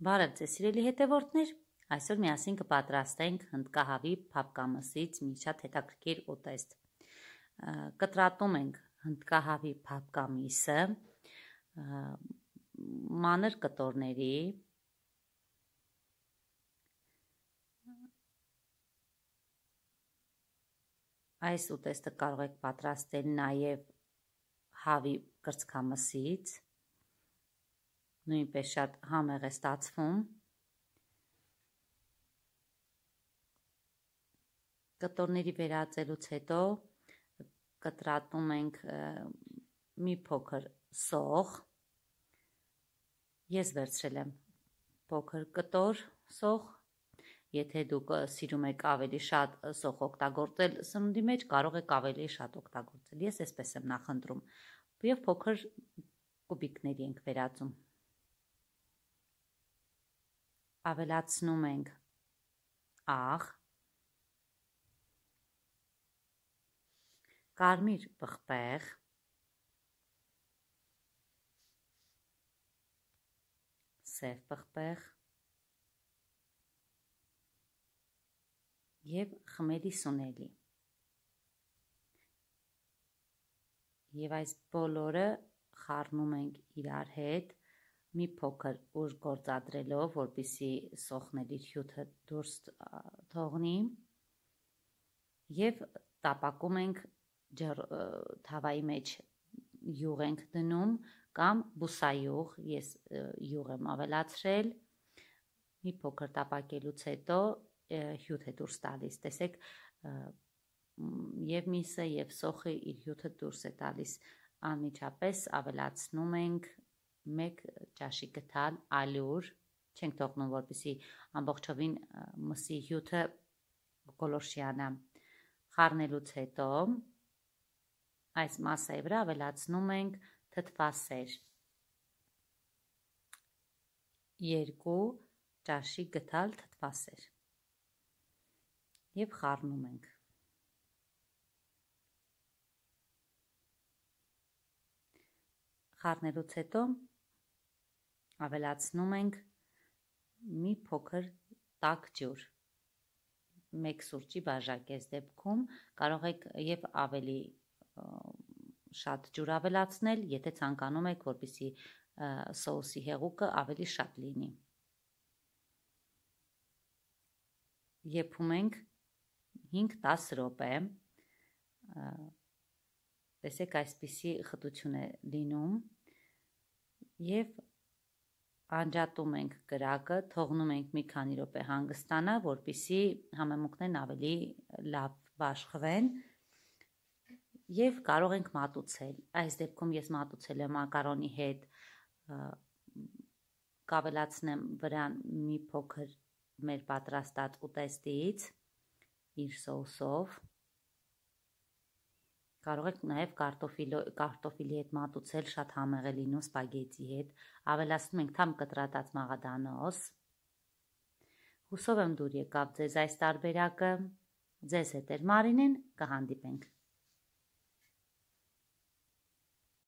Բարև ձեզ սիրելի հետևորդներ, այսօր միասին կպատրաստենք հնդկահավի փափկամսից մի շատ հետաքրքիր ուտեստ։ Կտրատում ենք հնդկահավի փափկամիսը մանր կտորների, այս ուտեստը կարող եք պատրաստել նաև հավի կրծքամսից, նույնպես շատ համեղ է ստացվում։ Կտորների վերածելուց հետո կտրատում ենք մի փոքր սող։ Ես վերցրել եմ փոքր կտոր սող։ Եթե դուք սիրում եք ավելի շատ սող օգտագործել սնունդի մեջ, կարող եք ավելի շատ օգտագործել։ Ես այսպես եմ նախընտրում։ Եվ փոքր կուբիկների ենք վերածում։ Ավելացնում ենք աղ, կարմիր պղպեղ, սև պղպեղ և խմելի սունելի։ Եվ այս բոլորը խառնում ենք իրար հետ, մի փոքր ուժ գործադրելով, որպեսզի սոխն իր հյութը դուրս թողնի, և տապակում ենք թավայի մեջ յուղ ենք դնում կամ բուսայուղ, ես յուղ եմ ավելացրել, մի փոքր տապակելուց հետո հյութ է դուրս տալիս, տեսեք, և միսը և սոխը իր հյութը դուրս է տալիս, անմիջապես ավելացնում ենք մեկ ճաշի գդալ ալյուր, չենք թողնում, որպեսզի ամբողջովին մսի հյութը գոլորշիանա։ Խառնելուց հետո այս մասայի վրա ավելացնում ենք թթվասեր, 2 ճաշի գդալ թթվասեր և խառնում ենք։ Խառնելուց հետո ավելացնում ենք մի փոքր տաք ջուր, 1 սուրճի բաժակ այս դեպքում, կարող եք և ավելի շատ ջուր ավելացնել, եթե ցանկանում եք, որպեսզի սոուսի հեղուկը ավելի շատ լինի։ Եփում ենք 5-10 րոպե, տեսեք այսպիսի խտություն է լինում, և անջատում ենք կրակը, թողնում ենք մի քանի րոպե հանգստանա, որպեսզի համեմունքներն ավելի լավ բաշխվեն, և կարող ենք մատուցել։ Այս դեպքում ես մատուցել եմ մակարոնի հետ, կավելացնեմ վրան մի փոքր մեր պատրաստած ուտեստից իր սոուսով, կարող եք նաև կարտոֆիլի հետ մատուցել, շատ համեղ է լինում սպագետի հետ, ավելացնում ենք թամ կտրատած մաղադանոս։ Հուսով եմ դուր եկավ ձեզ այս տարբերակը, ձեզ հետ էր Մարինեն, կհանդիպենք։